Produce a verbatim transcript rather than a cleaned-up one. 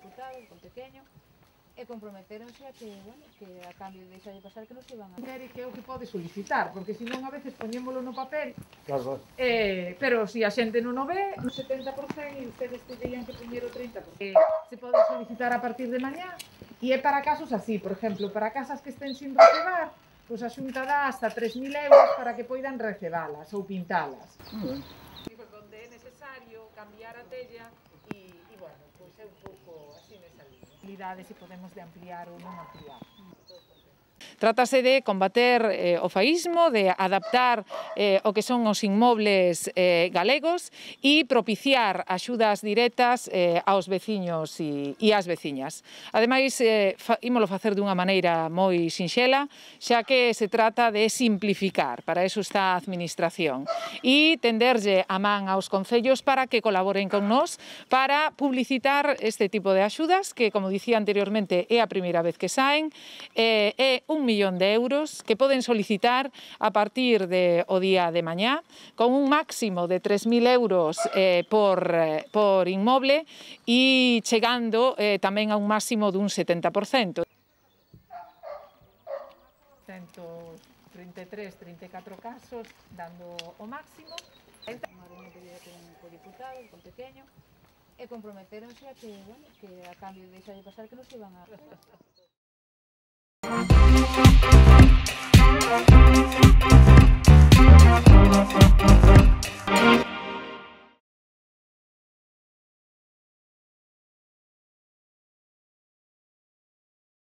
diputado, con pequeño, e comprometeronse a que, bueno, que a cambio de deixarlle pasar que non se iban a... Quere que é o que pode solicitar, porque senón a veces poñémolo no papel, Claro, claro. eh, pero se si a xente non o ve, un setenta por cento e ustedes terían que poñer o trinta por cento. Eh, se pode solicitar a partir de mañá, e é para casos así, por exemplo, para casas que estén sin recebar, pois a Xunta dá hasta tres mil euros para que poidan recebalas ou pintalas. Moi ben. Donde é necesario cambiar a tella e, e bueno, pois é un pouco así nesa línea. Se podemos de ampliar ou non ampliar. Trátase de combater eh, o faísmo, de adaptar eh, o que son os inmobles eh, galegos e propiciar axudas directas eh, aos veciños e, e ás veciñas. Ademais, eh, fa, ímolo facer dunha maneira moi sinxela, xa que se trata de simplificar, para eso está a Administración, e tenderlle a man aos concellos para que colaboren con nós para publicitar este tipo de axudas, que, como dicía anteriormente, é a primeira vez que saen, eh, é un millón de euros que poden solicitar a partir de o día de mañá, con un máximo de tres mil euros eh, por, eh, por inmoble e chegando eh, tamén a un máximo dun setenta por cento. ciento trinta e tres, trinta e catro casos, dando o máximo. Unha reunión que lle con o diputado, con pequeño, e comprometeronse a que, bueno, que a cambio de deixarlle pasar que non se iban a...